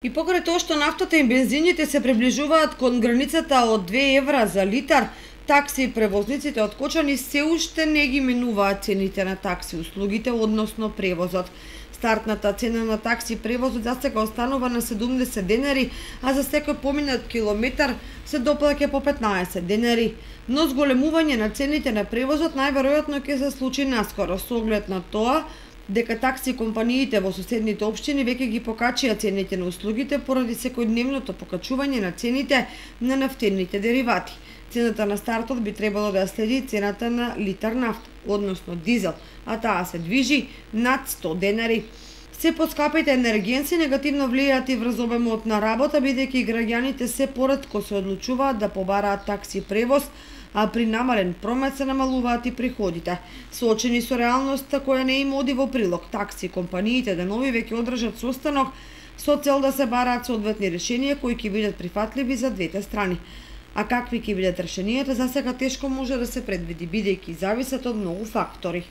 И покрај тоа што нафтата и бензините се приближуваат кон границата од 2 евра за литар, такси и превозниците од Кочани се уште не ги минуваат цените на такси услугите, односно превозот. Стартната цена на такси превозот засега останува на 70 денари, а за секој поминат километар се доплаќа по 15 денари. Но зголемување на цените на превозот најверојатно ќе се случи наскоро, со оглед на тоа дека такси компаниите во соседните општини веќе ги покачија цените на услугите поради секојдневното покачување на цените на нафтените деривати. Цената на стартот би требало да следи цената на литар нафта, односно дизел, а таа се движи над 100 денари. Се поскапите енергенци негативно влијаат и врз обемот на работа, бидејќи граѓаните се поретко се одлучуваат да побараат такси превоз, а при намален промет се намалуваат и приходите. Соочени со реалноста која не им оди во прилог, такси компаниите денови веќе одржат состанок со цел да се бараат соодветни решенија кои ќе бидат прифатливи за двете страни. А какви ќе бидат решенијата, засега тешко може да се предвиди, бидејќи зависат од многу фактори.